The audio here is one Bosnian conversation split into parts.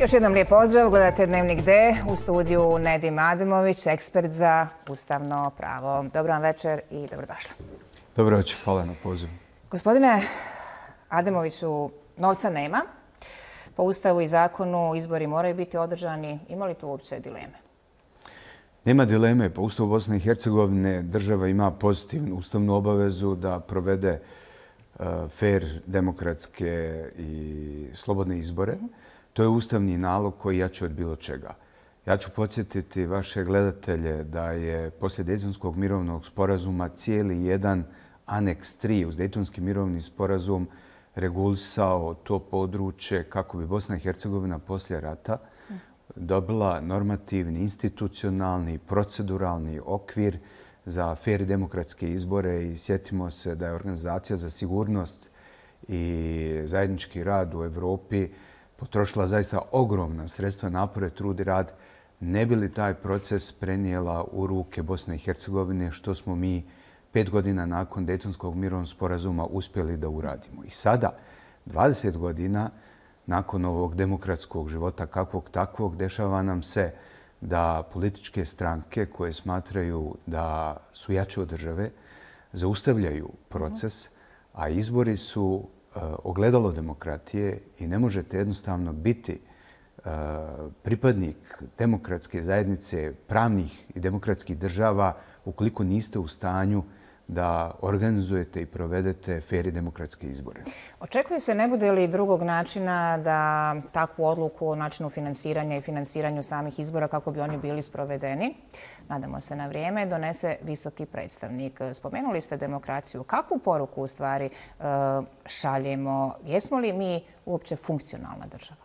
Još jednom lijep pozdrav, gledate Dnevnik D, u studiju Nedim Ademović, ekspert za ustavno pravo. Dobro vam večer i dobrodošli. Dobro večer, hvala na pozivu. Gospodine Ademoviću, novca nema. Po Ustavu i zakonu izbori moraju biti održani. Ima li tu uopće dileme? Nema dileme. Po Ustavu Bosne i Hercegovine država ima pozitivnu ustavnu obavezu da provede fair, demokratske i slobodne izbore. To je ustavni nalog koji jači od bilo čega. Ja ću podsjetiti vaše gledatelje da je poslije Dejtonskog mirovnog sporazuma cijeli jedan aneks 3 uz Dejtonski mirovni sporazum regulisao to područje kako bi Bosna i Hercegovina poslije rata dobila normativni, institucionalni, proceduralni okvir za fair i demokratske izbore i sjetimo se da je Organizacija za sigurnost i zajednički rad u Evropi potrošila zaista ogromna sredstva, napore, trud i rad, ne bi li taj proces prenijela u ruke Bosne i Hercegovine, što smo mi 5 godina nakon Dejtonskog mirovnog sporazuma uspjeli da uradimo. I sada, 20 godina nakon ovog demokratskog života kakvog takvog, dešava nam se da političke stranke koje smatraju da su jače od države zaustavljaju proces, a izbori su ogledalo demokratije i ne možete jednostavno biti pripadnik demokratske zajednice, pravnih i demokratskih država ukoliko niste u stanju da organizujete i provedete fair i demokratske izbore. Očekuje se, ne bude li drugog načina da takvu odluku o načinu finansiranja i finansiranju samih izbora kako bi oni bili sprovedeni, nadamo se na vrijeme, donese visoki predstavnik. Spomenuli ste demokraciju. Kakvu poruku u stvari šaljemo? Jesmo li mi uopće funkcionalna država?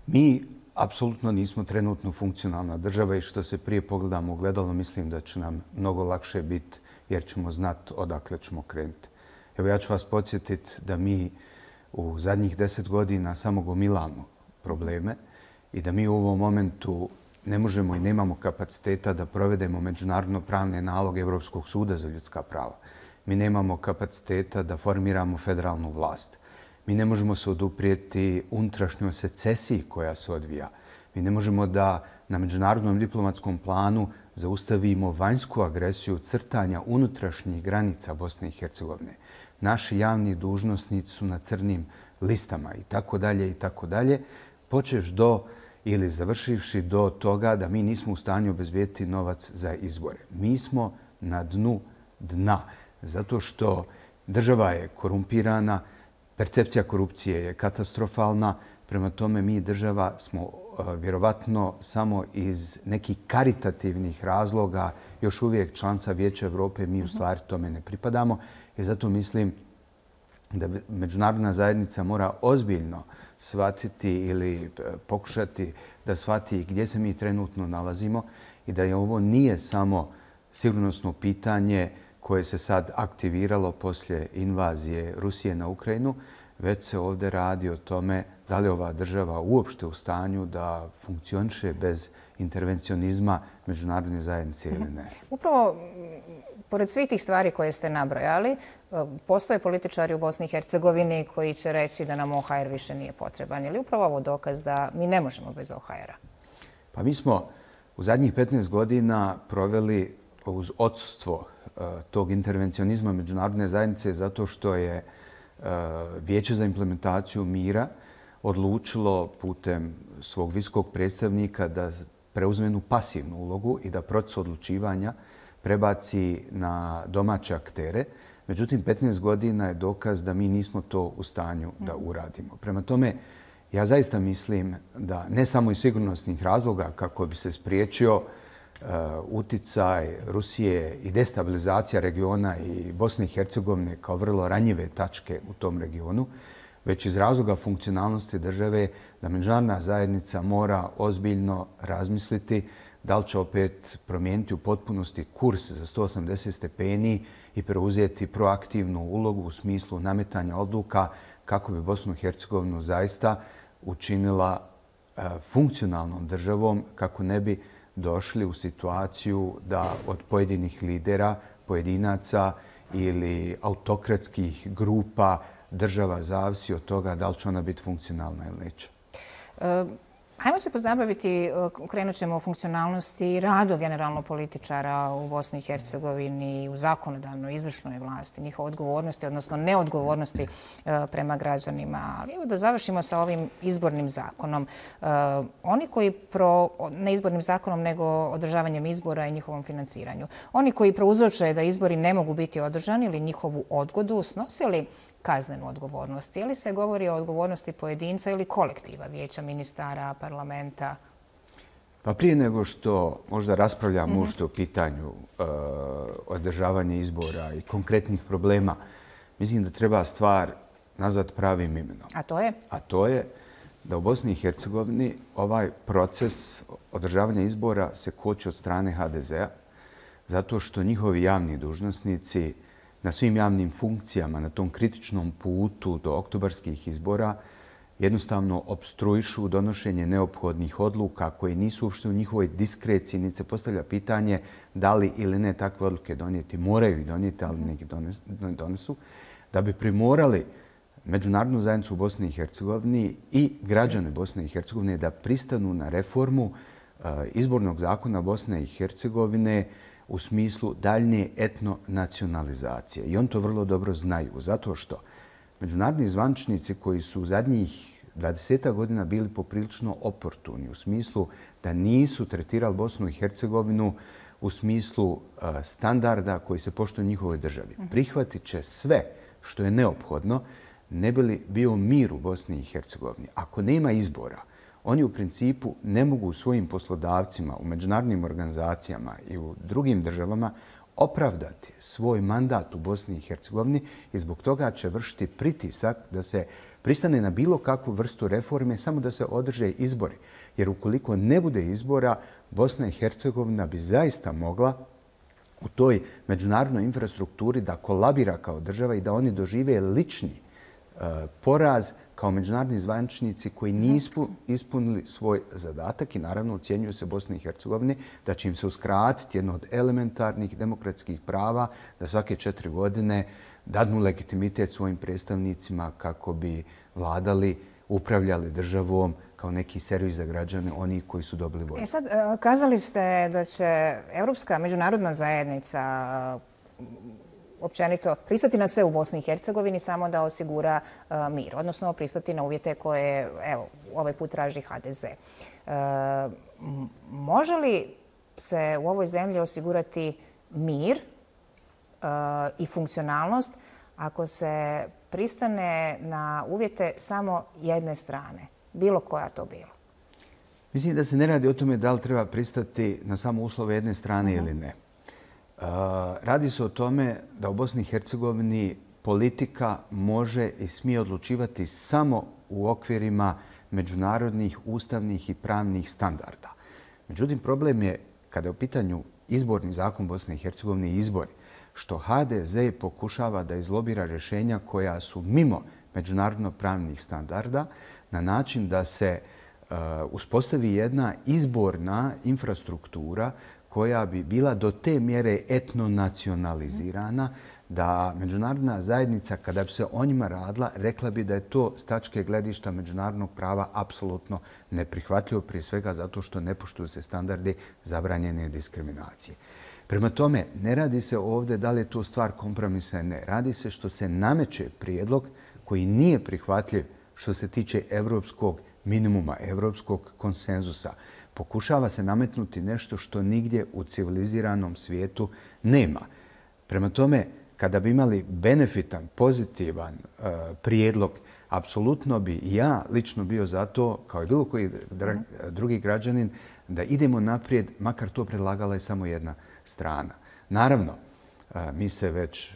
Mi apsolutno nismo trenutno funkcionalna država i što se prije pogledamo ogledalo, mislim da će nam mnogo lakše biti jer ćemo znati odakle ćemo krenuti. Evo ja ću vas podsjetiti da mi u zadnjih 10 godina samo gomilamo probleme i da mi u ovom momentu ne možemo i nemamo kapaciteta da provedemo međunarodno pravne naloge Evropskog suda za ljudska prava. Mi nemamo kapaciteta da formiramo federalnu vlast. Mi ne možemo se oduprijeti unutrašnjoj secesiji koja se odvija. Mi ne možemo da na međunarodnom diplomatskom planu zaustavimo vanjsku agresiju crtanja unutrašnjih granica Bosne i Hercegovine. Naši javni dužnosnici su na crnim listama i tako dalje i tako dalje, počevš do ili završivši do toga da mi nismo u stanju obezbijeti novac za izbore. Mi smo na dnu dna zato što država je korumpirana, percepcija korupcije je katastrofalna, prema tome mi država smo vjerovatno samo iz nekih karitativnih razloga još uvijek članica Vijeća Evrope, mi u stvari tome ne pripadamo. I zato mislim da međunarodna zajednica mora ozbiljno shvatiti ili pokušati da shvati gdje se mi trenutno nalazimo i da je ovo nije samo sigurnosno pitanje koje se sad aktiviralo poslije invazije Rusije na Ukrajinu, već se ovdje radi o tome da li ova država uopšte u stanju da funkcioniše bez intervencionizma međunarodne zajednice ili ne. Upravo, pored svih tih stvari koje ste nabrojali, postoje političari u Bosni i Hercegovini koji će reći da nam OHR više nije potreban. Je li upravo ovo dokaz da mi ne možemo bez OHR-a? Pa mi smo u zadnjih 15 godina proveli uz odsustvo tog intervencionizma međunarodne zajednice zato što je Vijeće za implementaciju mira odlučilo putem svog visokog predstavnika da preuzme jednu pasivnu ulogu i da proces odlučivanja prebaci na domaće aktere. Međutim, 15 godina je dokaz da mi nismo to u stanju da uradimo. Prema tome, ja zaista mislim da ne samo iz sigurnosnih razloga kako bi se spriječio uticaj Rusije i destabilizacija regiona i Bosne i Hercegovine kao vrlo ranjive tačke u tom regionu, već iz razloga funkcionalnosti države da međunarodna zajednica mora ozbiljno razmisliti da li će opet promijeniti u potpunosti kurs za 180 stepeni i preuzeti proaktivnu ulogu u smislu nametanja odluka kako bi Bosnu i Hercegovinu zaista učinila funkcionalnom državom, kako ne bi došli u situaciju da od pojedinih lidera, pojedinaca ili autokratskih grupa država zavisi od toga da li će ona biti funkcionalna ili neće. Ajmo se pozabaviti, krenut ćemo o funkcionalnosti i radu generalno političara u Bosni i Hercegovini, u zakonodavnoj, izvršnoj vlasti, njihove odgovornosti, odnosno neodgovornosti prema građanima. Ali evo da završimo sa ovim izbornim zakonom. Oni koji, ne izbornim zakonom, nego održavanjem izbora i njihovom financiranju, oni koji prouzroče da izbori ne mogu biti održani ili njihovu odgodu, snosili kaznenu odgovornost. Je li se govori o odgovornosti pojedinca ili kolektiva, vijeća ministara, parlamenta? Pa prije nego što možda raspravljamo uopšte o pitanju održavanja izbora i konkretnih problema, mislim da treba stvar nazvat pravim imenom. A to je? A to je da u Bosni i Hercegovini ovaj proces održavanja izbora se koči od strane HDZ-a zato što njihovi javni dužnosnici na svim javnim funkcijama, na tom kritičnom putu do oktobarskih izbora, jednostavno opstruišu donošenje neophodnih odluka koje nisu uopšte u njihovoj diskreciji, niti se postavlja pitanje da li ili ne takve odluke donijeti. Moraju ih donijeti, ali neki donesu, da bi primorali međunarodnu zajednicu u Bosni i Hercegovini i građane Bosne i Hercegovine da pristanu na reformu izbornog zakona Bosne i Hercegovine u smislu daljnje etnonacionalizacije. I on to vrlo dobro znaju, zato što međunarodni zvaničnici koji su u zadnjih 20 godina bili poprilično oportuni u smislu da nisu tretirali Bosnu i Hercegovinu u smislu standarda koji se poštuju u njihovoj državi. Prihvatit će sve što je neophodno ne bi li bio mir u Bosni i Hercegovini. Ako nema izbora, oni u principu ne mogu svojim poslodavcima u međunarodnim organizacijama i u drugim državama opravdati svoj mandat u Bosni i Hercegovini i zbog toga će vršiti pritisak da se pristane na bilo kakvu vrstu reforme, samo da se održe izbori. Jer ukoliko ne bude izbora, Bosna i Hercegovina bi zaista mogla u toj međunarodnoj infrastrukturi da kolabira kao država i da oni dožive lični poraz kao međunarodni zvaničnici koji nisu ispunili svoj zadatak i naravno ocjenjuju se Bosni i Hercegovini da će im se uskratiti jedno od elementarnih demokratskih prava da svake 4 godine dadnu legitimitet svojim predstavnicima kako bi vladali, upravljali državom kao neki servis za građane, oni koji su dobili volju. Sad, kazali ste da će Europska međunarodna zajednica općenito pristati na sve u Bosni i Hercegovini samo da osigura mir, odnosno pristati na uvjete koje, evo, ovaj put traži HDZ. Može li se u ovoj zemlji osigurati mir i funkcionalnost ako se pristane na uvjete samo jedne strane, bilo koja to bilo? Mislim da se ne radi o tome da li treba pristati na samo uslove jedne strane ili ne. Radi se o tome da u Bosni i Hercegovini politika može i smije odlučivati samo u okvirima međunarodnih, ustavnih i pravnih standarda. Međutim, problem je kada je u pitanju izborni zakon Bosne i Hercegovine i izbori, što HDZ pokušava da izlobira rješenja koja su mimo međunarodno pravnih standarda na način da se uspostavi jedna izborna infrastruktura koja bi bila do te mjere etnonacionalizirana da međunarodna zajednica, kada bi se o njima radila, rekla bi da je to s tačke gledišta međunarodnog prava apsolutno neprihvatljivo, prije svega zato što ne poštuju se standardi zabranjene diskriminacije. Prema tome, ne radi se ovdje da li je to stvar kompromisa, ne. Radi se što se nameće prijedlog koji nije prihvatljiv što se tiče evropskog minimuma, evropskog konsenzusa. Pokušava se nametnuti nešto što nigdje u civiliziranom svijetu nema. Prema tome, kada bi imali benefitan, pozitivan prijedlog, apsolutno bi ja lično bio za to, kao i bilo koji drugi građanin, da idemo naprijed, makar to predlagala je samo jedna strana. Naravno, mi se već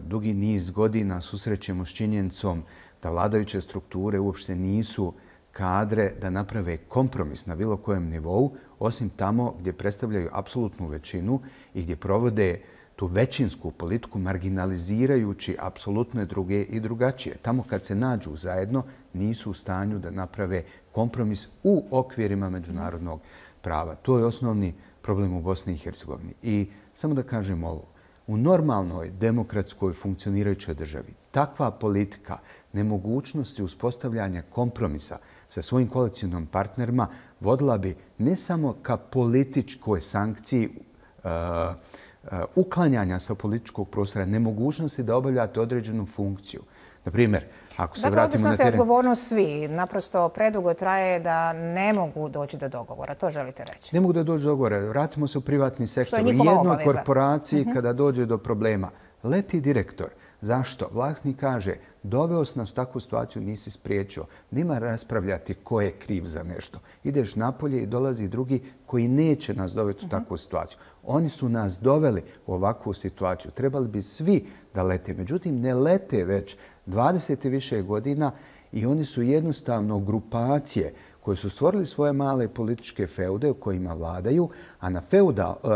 dugi niz godina susrećemo s činjenicom da vladajuće strukture uopšte nisu kadre da naprave kompromis na bilo kojem nivou, osim tamo gdje predstavljaju apsolutnu većinu i gdje provode tu većinsku politiku marginalizirajući apsolutne druge i drugačije. Tamo kad se nađu zajedno nisu u stanju da naprave kompromis u okvirima međunarodnog prava. To je osnovni problem u Bosni i Hercegovini. I samo da kažem ovo, U normalnoj, demokratskoj, funkcionirajućoj državi takva politika nemogućnosti uspostavljanja kompromisa sa svojim koalicijnim partnerima vodila bi ne samo ka političkoj sankciji uklanjanja sa političkog prostora, nemogućnosti da obavljate određenu funkciju. Na primjer, ako se vratimo na teren... Dakle, odgovornost svi. Naprosto predugo traje da ne mogu doći do dogovora. To želite reći? Ne mogu da dođu do dogovora. Vratimo se u privatni sektor. U jednoj korporaciji kada dođe do problema, leti direktor. Zašto? Vlasnik kaže, doveo si nas u takvu situaciju, nisi spriječio. Nema raspravljati ko je kriv za nešto. Ideš napolje i dolazi drugi koji neće nas dovesti u takvu situaciju. Oni su nas doveli u ovakvu situaciju. Trebali bi svi da lete. Međutim, ne lete već 20 i više godina i oni su jednostavno grupacije koje su stvorili svoje male političke feude u kojima vladaju, a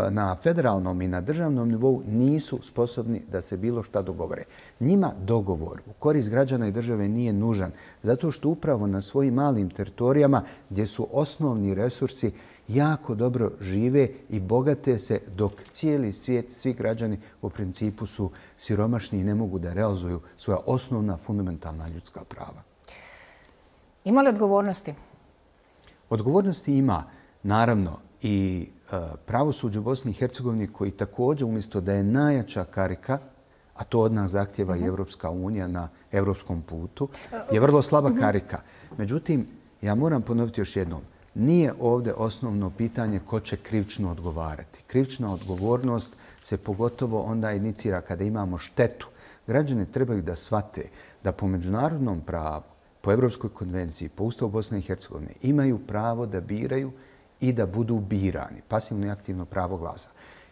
na federalnom i na državnom nivou nisu sposobni da se bilo šta dogovore. Njima dogovor u korist građana i države nije nužan, zato što upravo na svojim malim teritorijama gdje su osnovni resursi jako dobro žive i bogate se, dok cijeli svijet, svi građani u principu su siromašni i ne mogu da realizuju svoja osnovna fundamentalna ljudska prava. Ima li odgovornosti? Odgovornosti ima, naravno, i pravosuđe u Bosni i Hercegovini koji također, umjesto da je najjača karika, a to od nas zahtjeva i Evropska unija na evropskom putu, je vrlo slaba karika. Međutim, ja moram ponoviti još jednom, nije ovdje osnovno pitanje ko će krivično odgovarati. Krivična odgovornost se pogotovo onda inicira kada imamo štetu. Građani trebaju da shvate da po međunarodnom pravu, po Evropskoj konvenciji, po Ustavu Bosne i Hercegovine imaju pravo da biraju i da budu birani, pasivno i aktivno pravo glasa.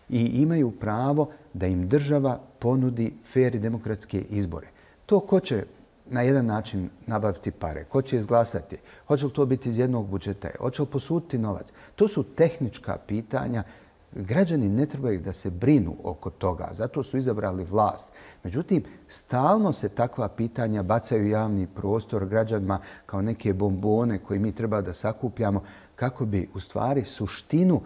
I imaju pravo da im država ponudi fer i demokratske izbore. To ko će na jedan način nabaviti pare, ko će izglasati, hoće li to biti iz jednog budžeta, hoće li posuditi novac. To su tehnička pitanja. Građani ne trebaju da se brinu oko toga, zato su izabrali vlast. Međutim, stalno se takva pitanja bacaju u javni prostor građanima kao neke bombone koje mi treba da sakupljamo kako bi u stvari suštinu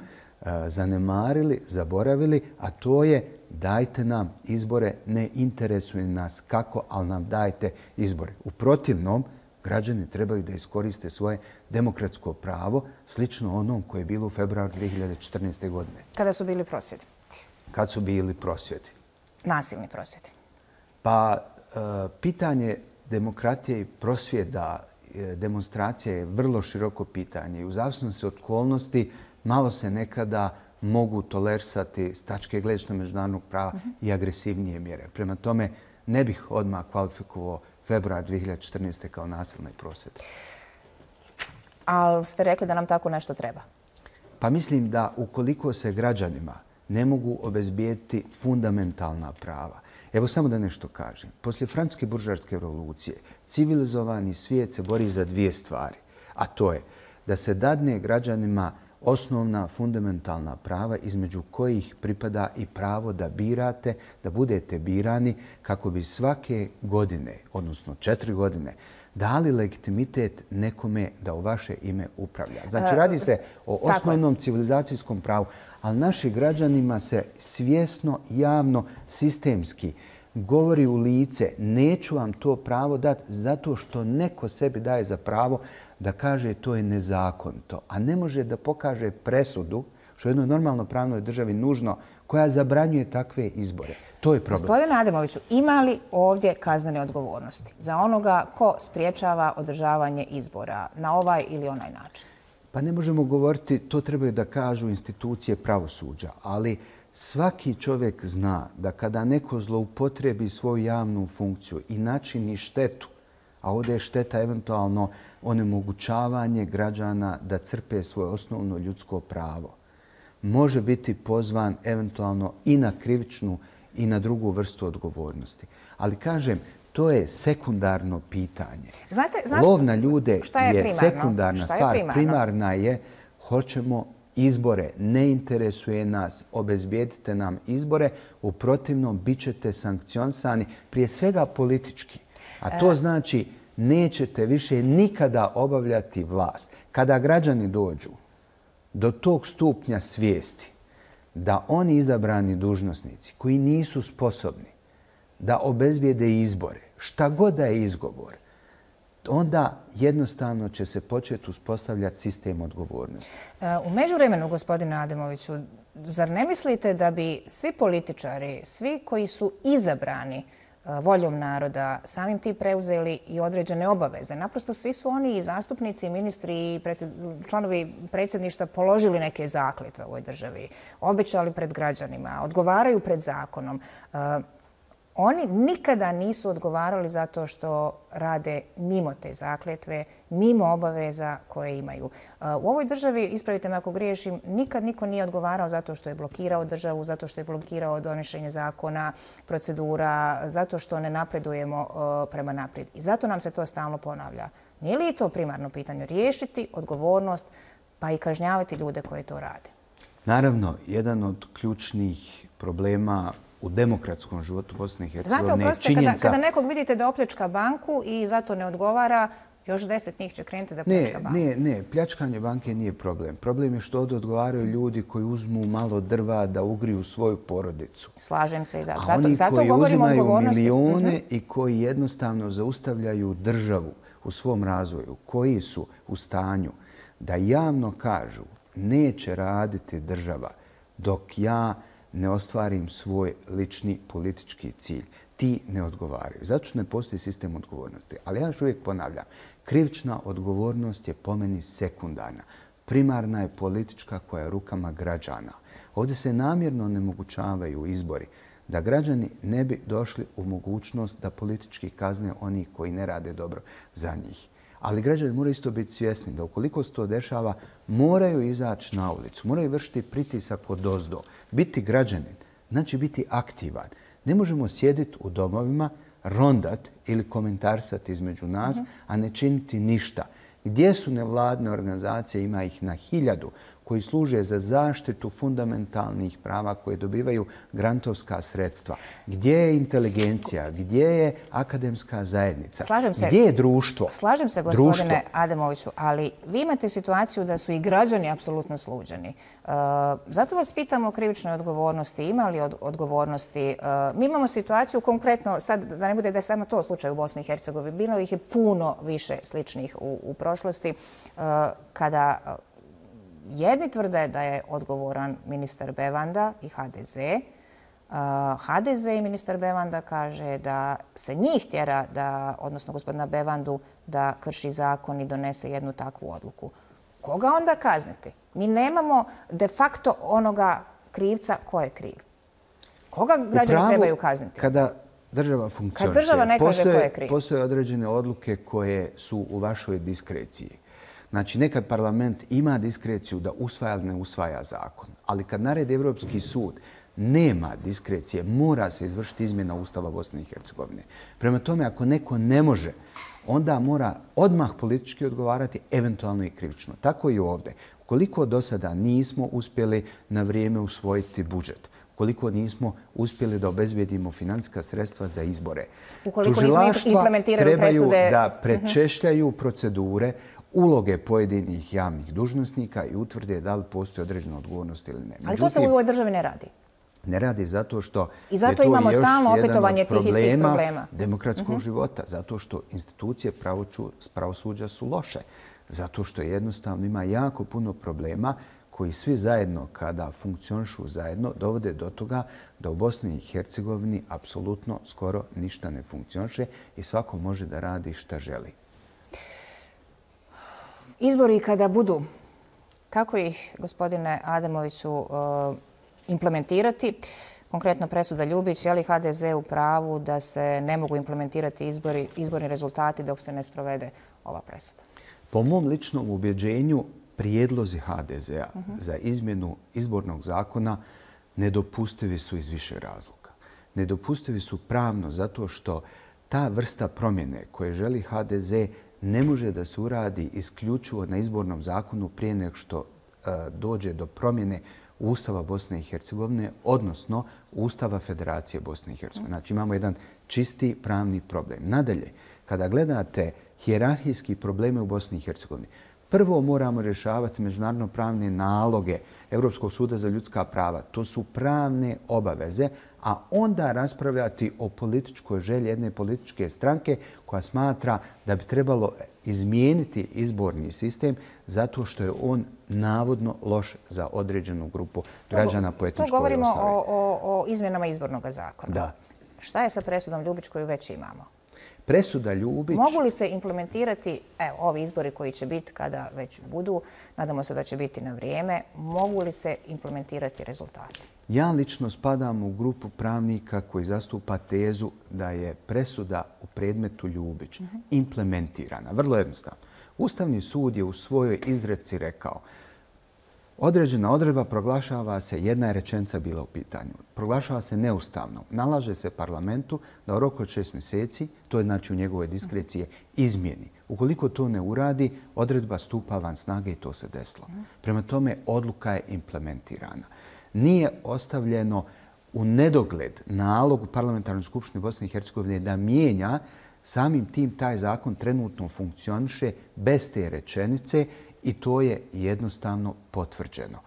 zanemarili, zaboravili, a to je dajte nam izbore, ne interesuje nas kako, ali nam dajte izbore. U protivnom, građani trebaju da iskoriste svoje demokratsko pravo, slično onom koje je bilo u februaru 2014. godine. Kada su bili prosvjedi? Kad su bili prosvjedi? Nasilni prosvjedi. Pa, pitanje demokratije i prosvjeda, demonstracija je vrlo široko pitanje i u zavisnosti od okolnosti malo se nekada mogu tolerisati s tačke gledišta međunarodnog prava i agresivnije mjere. Prema tome, ne bih odmah kvalifikovao februar 2014. kao nasilni prosvjed. Ali ste rekli da nam tako nešto treba? Pa mislim da ukoliko se građanima ne mogu obezbijeti fundamentalna prava. Evo samo da nešto kažem. Poslije Francuske buržoaske revolucije civilizovani svijet se bori za dvije stvari. A to je da se dadne građanima osnovna fundamentalna prava između kojih pripada i pravo da birate, da budete birani kako bi svake godine, odnosno 4 godine, dali legitimitet nekome da u vaše ime upravlja. Znači, radi se o osnovnom civilizacijskom pravu, ali našim građanima se svjesno, javno, sistemski govori u lice neću vam to pravo dati zato što neko sebi daje za pravo da kaže to je nezakonito, a ne može da pokaže presudu, što je jednoj normalno pravnoj državi nužno, koja zabranjuje takve izbore. To je problem. Gospodine Ademoviću, ima li ovdje kaznene odgovornosti za onoga ko spriječava održavanje izbora na ovaj ili onaj način? Pa ne možemo govoriti, to trebaju da kažu institucije pravosuđa, ali svaki čovjek zna da kada neko zloupotrebi svoju javnu funkciju i načini štetu, a ovdje je šteta eventualno onemogućavanje građana da crpe svoje osnovno ljudsko pravo, može biti pozvan eventualno i na krivičnu i na drugu vrstu odgovornosti. Ali kažem, to je sekundarno pitanje. Lov na ljude je sekundarna stvar. Primarna je hoćemo izbore. Ne interesuje nas, obezbijedite nam izbore, u protivnom bit ćete sankcionisani prije svega politički. A to znači nećete više nikada obavljati vlast. Kada građani dođu do tog stupnja svijesti da oni izabrani dužnosnici koji nisu sposobni da obezbijede izbore, šta god da je izgovor, onda jednostavno će se početi uspostavljati sistem odgovornosti. U međuvremenu, gospodine Ademoviću, zar ne mislite da bi svi političari, svi koji su izabrani voljom naroda, samim tim preuzeli i određene obaveze? Naprosto svi su oni i zastupnici, i ministri, i članovi predsjedništva položili neke zakletve u ovoj državi, obećali pred građanima, odgovaraju pred zakonom. Oni nikada nisu odgovarali zato što rade mimo te zakletve, mimo obaveza koje imaju. U ovoj državi, ispravite me ako griješim, nikad niko nije odgovarao zato što je blokirao državu, zato što je blokirao donošenje zakona, procedura, zato što ne napredujemo prema naprijed. I zato nam se to stalno ponavlja. Nije li to primarno pitanje? Riješiti odgovornost pa i kažnjavati ljude koji to rade? Naravno, jedan od ključnih problema u demokratskom životu Bosne i Hercegovine je činjenica... Znate, oprostite, kada nekog vidite da opljačka banku i zato ne odgovara, još 10 njih će krenuti da pljačka banku. Ne, pljačkanje banke nije problem. Problem je što ovdje odgovaraju ljudi koji uzmu malo drva da ugriju svoju porodicu. Slažem se i zato. A oni zato koji govorimo o uzimaju odgovornosti. milijone i koji jednostavno zaustavljaju državu u svom razvoju, koji su u stanju da javno kažu neće raditi država dok ja ne ostvarim svoj lični politički cilj. Ti ne odgovaraju. Zato što ne postoji sistem odgovornosti. Ali ja još uvijek ponavljam, krivična odgovornost je po meni sekundarna. Primarna je politička koja je rukama građana. Ovdje se namjerno onemogućavaju izbori da građani ne bi došli u mogućnost da politički kazne oni koji ne rade dobro za njih. Ali građani moraju isto biti svjesni da ukoliko se to dešava, moraju izaći na ulicu, moraju vršiti pritisak odozdo. Biti građanin znači biti aktivan. Ne možemo sjediti u domovima, rondat ili komentarsati između nas, a ne činiti ništa. Gdje su nevladne organizacije, ima ih na 1000, koji služe za zaštitu fundamentalnih prava koje dobivaju grantovska sredstva. Gdje je inteligencija? Gdje je akademska zajednica? Gdje je društvo? Slažem se, gospodine Ademoviću, ali vi imate situaciju da su i građani apsolutno sluđeni. Zato vas pitam o krivičnoj odgovornosti. Ima li odgovornosti? Mi imamo situaciju konkretno, sad da ne bude da je samo to slučaj u Bosni i Hercegovini, bilo ih je puno više sličnih u prošlosti, kada jedni tvrde da je odgovoran ministar Bevanda i HDZ. HDZ i ministar Bevanda kaže da se njih tjera, odnosno gospodina Bevandu, da krši zakon i donese jednu takvu odluku. Koga onda kazniti? Mi nemamo de facto onoga krivca ko je kriv. Koga građani trebaju kazniti? Kada država funkcioniše, postoje određene odluke koje su u vašoj diskreciji. Znači, nekad parlament ima diskreciju da usvaja ili ne usvaja zakon, ali kad naredi Evropski sud, nema diskrecije, mora se izvršiti izmjena Ustava Bosne i Hercegovine. Prema tome, ako neko ne može, onda mora odmah politički odgovarati, eventualno i krivično. Tako i ovdje. Ukoliko do sada nismo uspjeli na vrijeme usvojiti budžet, ukoliko nismo uspjeli da obezbijedimo financijska sredstva za izbore, tužilaštva trebaju da prečešljaju procedure, uloge pojedinih javnih dužnosnika i utvrde da li postoji određena odgovornost ili ne. Ali to se u ovoj državi ne radi. Ne radi zato što i zato imamo stalno opetovanje tih istih problema demokratskog života. Zato što institucije pravosuđa su loše. Zato što jednostavno ima jako puno problema koji svi zajedno, kada funkcionišu zajedno, dovode do toga da u Bosni i Hercegovini apsolutno skoro ništa ne funkcioniše i svako može da radi šta želi. Izbori kada budu, kako ih, gospodine Ademoviću, implementirati? Konkretno presuda Ljubić, je li HDZ u pravu da se ne mogu implementirati izborni rezultati dok se ne sprovede ova presuda? Po mom ličnom ubjeđenju, prijedlozi HDZ-a za izmjenu izbornog zakona nedopustivi su iz više razloga. Nedopustivi su pravno zato što ta vrsta promjene koje želi HDZ ne može da se uradi isključivo na izbornom zakonu prije nego što dođe do promjene Ustava Bosne i Hercegovine, odnosno Ustava Federacije Bosne i Hercegovine. Znači imamo jedan čisti pravni problem. Nadalje, kada gledate hijerarhijski probleme u Bosni i Hercegovini, Prvo moramo rješavati međunarodno-pravne naloge Europskog suda za ljudska prava. To su pravne obaveze, a onda raspravljati o političkoj želji jedne političke stranke koja smatra da bi trebalo izmijeniti izborni sistem zato što je on navodno loš za određenu grupu građana po etničkoj osnovi. To govorimo o izmjenama izbornog zakona. Da. Šta je sa presudom Ljubić koju već imamo? Presuda Ljubić... Mogu li se implementirati, evo, ovi izbori koji će biti kada već budu, nadamo se da će biti na vrijeme, mogu li se implementirati rezultati? Ja lično spadam u grupu pravnika koji zastupa tezu da je presuda u predmetu Ljubić implementirana. Vrlo jednostavno. Ustavni sud je u svojoj izreci rekao određena odredba proglašava se, jedna je rečenica bila u pitanju, proglašava se neustavnom. Nalaže se parlamentu da u roku od 6 mjeseci, to je znači u njegovoj diskreciji, izmijeni. Ukoliko to ne uradi, odredba stupa van snage i to se desilo. Prema tome, odluka je implementirana. Nije ostavljeno u nedogled nalog u Parlamentarnoj skupštini Bosne i Hercegovine da mijenja, samim tim taj zakon trenutno funkcioniše bez te rečenice i to je jednostavno potvrđeno.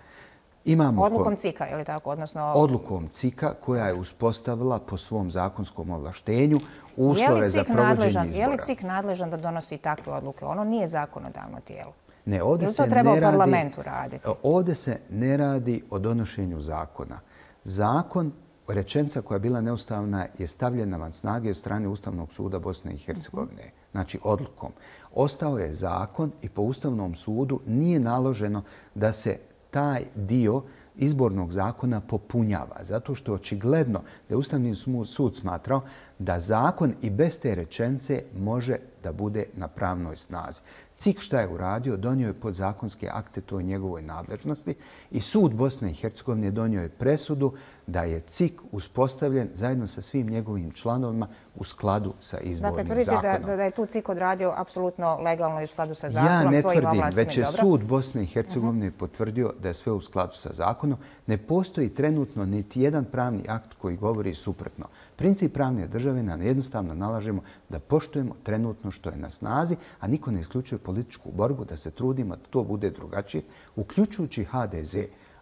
Odlukom CIK-a, je li tako? Odlukom CIK-a koja je uspostavila po svom zakonskom ovlaštenju uslove za provođenje izbora. Je li CIK nadležan da donosi takve odluke? Ono nije zakonodavno tijelo. Ne, ovdje se to treba u parlamentu raditi? Ovdje se ne radi o donošenju zakona. Zakon, rečenica koja je bila neustavna, je stavljena van snage od strane Ustavnog suda Bosne i Hercegovine. Znači odlukom. Ostao je zakon i po Ustavnom sudu nije naloženo da se taj dio izbornog zakona popunjava. Zato što je očigledno da je Ustavni sud smatrao da zakon i bez te rečenice može da bude na pravnoj snazi. CIK šta je uradio? Donio je podzakonske akte, to je njegovoj nadležnosti i sud Bosne i Hercegovine donio je presudu da je CIK uspostavljen zajedno sa svim njegovim članovima u skladu sa izbornim zakonom. Dakle, tvrdite da je tu CIK odradio apsolutno legalno i u skladu sa zakonom, svojim ovlastima. Ja ne tvrdim, već je sud Bosne i Hercegovine potvrdio da je sve u skladu sa zakonom. Ne postoji trenutno niti jedan pravni akt koji govori suprotno. Princip pravne države nam jednostavno nalažemo da poštujemo trenutno što je na snazi, a niko ne isključuje političku borbu da se trudimo da to bude drugačije, uključujući HDZ.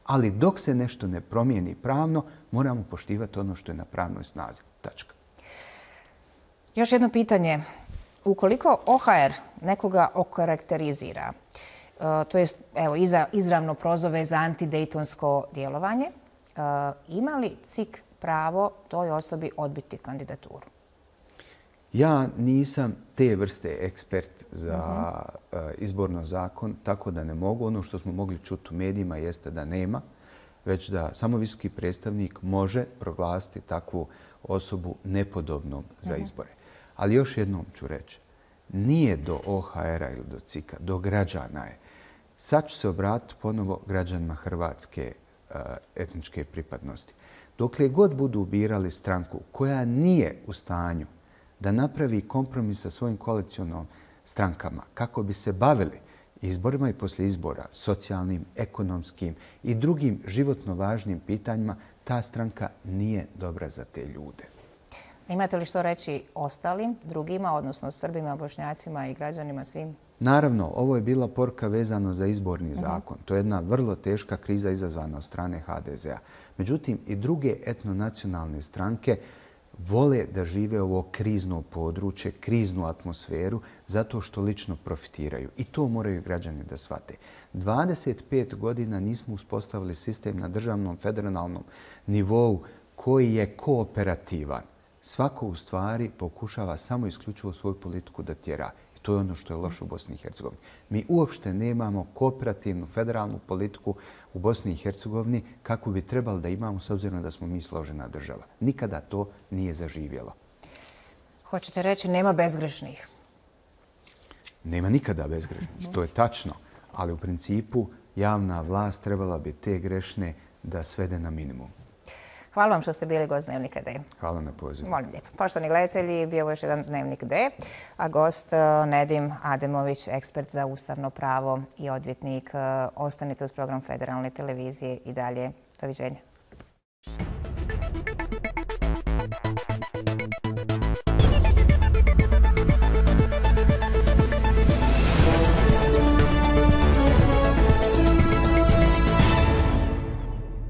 Ali dok se nešto ne promijeni pravno, moramo poštivati ono što je na pravnoj snazi. Tačka. Još jedno pitanje. Ukoliko OHR nekoga okarakterizira, to jest izravno prozove za antidejtonsko djelovanje, ima li CIK pravo toj osobi odbiti kandidaturu? Ja nisam te vrste ekspert za izborno zakon, tako da ne mogu. Ono što smo mogli čuti u medijima jeste da nema, već da samo visoki predstavnik može proglasiti takvu osobu nepodobnom za izbore. Ali još jednom ću reći, nije do OHR-a ili do CIK-a, do građana je. Sad ću se obratiti ponovo građanima hrvatske etničke pripadnosti. Dokle god budu birali stranku koja nije u stanju da napravi kompromis sa svojim koalicionom strankama kako bi se bavili izborima i poslije izbora, socijalnim, ekonomskim i drugim životno važnim pitanjima, ta stranka nije dobra za te ljude. Imate li što reći ostalim, drugima, odnosno Srbima, Bošnjacima i građanima svim? Naravno, ovo je bila poruka vezano za izborni zakon. To je jedna vrlo teška kriza izazvana od strane HDZ-a. Međutim, i druge etnonacionalne stranke vole da žive ovo krizno područje, kriznu atmosferu, zato što lično profitiraju. I to moraju građani da shvate. 25 godina nismo uspostavili sistem na državnom federalnom nivou koji je kooperativan. Svako u stvari pokušava samo isključivo svoju politiku da tjera. I to je ono što je loše u Bosni i Hercegovini. Mi uopšte nemamo kooperativnu federalnu politiku u Bosni i Hercegovini kako bi trebali da imamo s obzirom da smo mi složena država. Nikada to nije zaživjelo. Hoćete reći nema bezgrešnih? Nema nikada bezgrešnih. To je tačno. Ali u principu javna vlast trebala bi te grešne da svede na minimum. Hvala vam što ste bili gost Dnevnika D. Hvala na pozivu. Molim lijepo. Poštovani gledatelji, bio je još jedan Dnevnik D, a gost Nedim Ademović, ekspert za ustavno pravo i odvjetnik. Ostanite uz program Federalne televizije i dalje. Doviđenja.